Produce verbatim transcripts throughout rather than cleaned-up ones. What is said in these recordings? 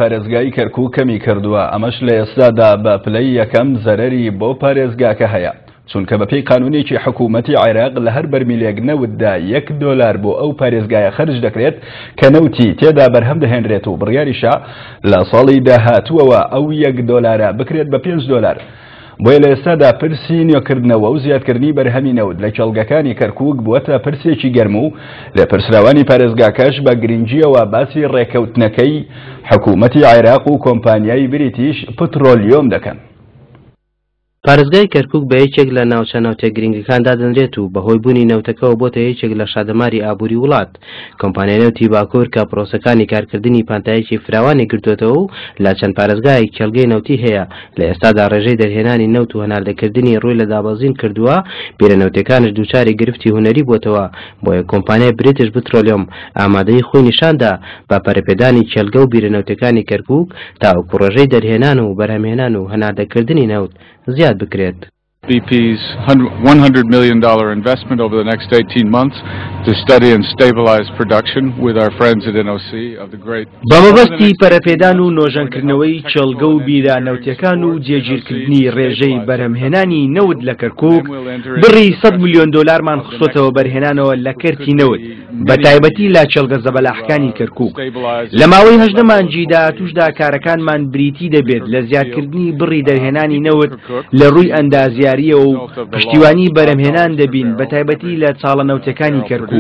پارێزگای کەرکوک کەمی کردووە، ئەمەش لە ئێستادا بە پلەی یەکەم زەرەری بۆ پارێزگاکە هەیە، چونکە بەپێی قانونێکی حکوومەتی عێراق لە هەر بەرمیلێک نەوتدا یەک دۆلار بۆ ئەو پارێزگایە خەرج دەکرێت کە نەوتی تێدا بەرهەم دەهێنرێت و بڕیاریشە لە ساڵی داهاتووەوە ئەو یەک دۆلارە بکرێت بە پێنج دۆلار. بۆیە لە ئێستادا پرسی نوێکردنەوە و زیادکردنی بەرهەمی نەوت لە کێڵگەکانی کەرکوک بووەتە پرسێکی گەرم و لێپرسراوانی پارێزگاکەش بە گرنگیەوە باسی ڕێکەوتنەکەی حکوومەتی عێراق و کۆمپانیای بریتیش پترۆلیۆم دەکەن. پارێزگای کەرکوک بە یەکێک لە ناوچە نەوتە گرنگەکان دادەنرێت و بەهۆی بوونی نەوتەکەوە بۆتە یەکێک لە شادەماری ئابووری وڵات. کۆمپانیای نەوتی باکوور کە پرۆسەکانی کارکردنی پانتایەکی فراوانی گرتوێتەوە و لە چەند پارێزگایەک کێڵگەی نەوتی هەیە، لە ئێستادا ڕێژەی دەرهێنانی نەوت و هەناردەکردنی ڕووی لە دابەزین کردووە، بیرە نەوتەکانش دووچاری گرفتی هونەری بۆتەوە. بۆیە کۆمپانیای بریتش پترۆلیۆم ئامادەی خۆی نیشاندا بە پەرەپێدانی کێڵگە و بیرە نەوتەکانی کەرکوک تاوەکو ڕێژەی دەرهێنان و بەرهەمهێنان و هەناردەکردنی نەوت زیاد بکرێت. B P's one hundred million dollar investment over the next eighteen months to study and stabilize production with our friends at N O C of the great بە مەبەستی پەرەپێدان و نۆژەنکردنەوەی کێڵگە و بیرە نەوتەکان و جێگیرکردنی ڕێژەی بەرهەمهێنانی نەوت لە کەرکوک، بڕی سەد ملیۆن دۆلارمان خستۆتەوە بەرهێنانەوە لە کەرتی نەوت، بە تایبەتی لە کێڵگە زەبەلاحەکانی کەرکوک. لە ماوەی هەژدە مانگی داهاتووشدا کارەکانمان بریتی دەبێت لە زیادکردنی بڕی دەرهێنانی نەوت لە ڕووی ئەندازیاریەوە و پشتیوانی بەرهەمهێنان دەبین، بە تایبەتی لە چاڵە نەوتەکانی کەرکوک.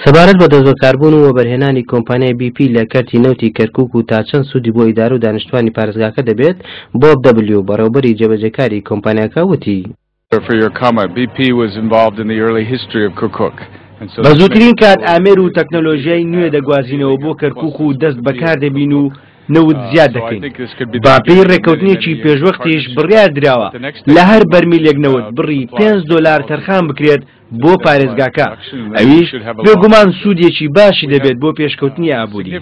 سەبارەت بە دەستبەکاربوون و وەبەرهێنانی کۆمپانیای بی پی لە کەرتی نەوتی کەرکوک و تا چەند سوودی بۆ ئیدارە و دانیشتوانی پارێزگاکە دەبێت، بۆب دەبلیو، بەڕێوبەری جێبەجێکاری کۆمپانیاکە وتی: For your comment, B P was involved in the early history of Kirkuk. بە زووترین کات ئامێر و تەکنەلۆژیای نوێ دەگوازینەوە بۆ کەرکوک و دەست بەکار دەبین و نەوت زیاد دەکەین. بەپێی ڕێککەوتنێکی پێشوەختیش بڕیار دراوە لە هەر بەرمیلێک نەوت بڕی پێنج دۆلار تەرخان بکرێت بۆ پارێزگاکە، ئەویش بێگومان سوودێکی باشی دەبێت بۆ پێشکەوتنی ئابووری.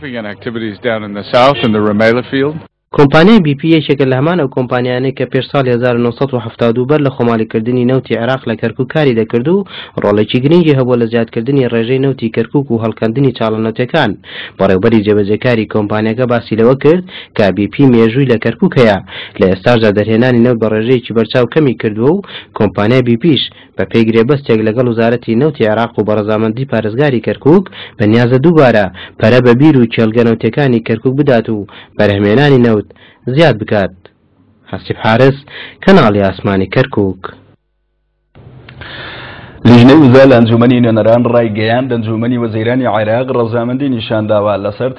کۆمپانیای بی پی یەکێکە لە هەمان ئەو کۆمپانیانەی کە پێش ساڵی هەزار و نۆ سەد و حەفتا و دوو بەر لە خۆماڵیکردنی نەوتی عێراق لە کەرکوک کاری دەکرد و ڕۆڵێکی گرنگی هەبووە لە زیادکردنی ڕێژەی نەوتی کەرکوک و هەڵکەندنی چاڵە نەوتەکان. بەڕێوبەری جێبەجێکاری کۆمپانیاکە باسی لەوە کرد کە بی پی مێژووی لە کەرکوک هەیە، لە ئێستاشدا دەرهێنانی نەوت بە ڕێژەیەکی بەرچاو کەمی کردووە و کۆمپانیای بی پیش بە پێی گرێبەستێک لەگەڵ وەزارەتی نەوتی عێراق و بەڕەزامەندی پارێزگاری کەرکوک بەنیازە دووبارە پەرە بە بیر و کێڵگە نەوتەکانی کەرکوک بدات و بەرهەمێنانی نەوت زیاد بکات. حەسیب حارس، کەناڵی ئاسمانی کەرکوک. لیژنەی وزە لە ئەنجومەنی نوێنەران ڕایگەیاند، ئەنجومەنی وەزیرانی عێراق ڕەزامەندی نیشانداوە لەسەر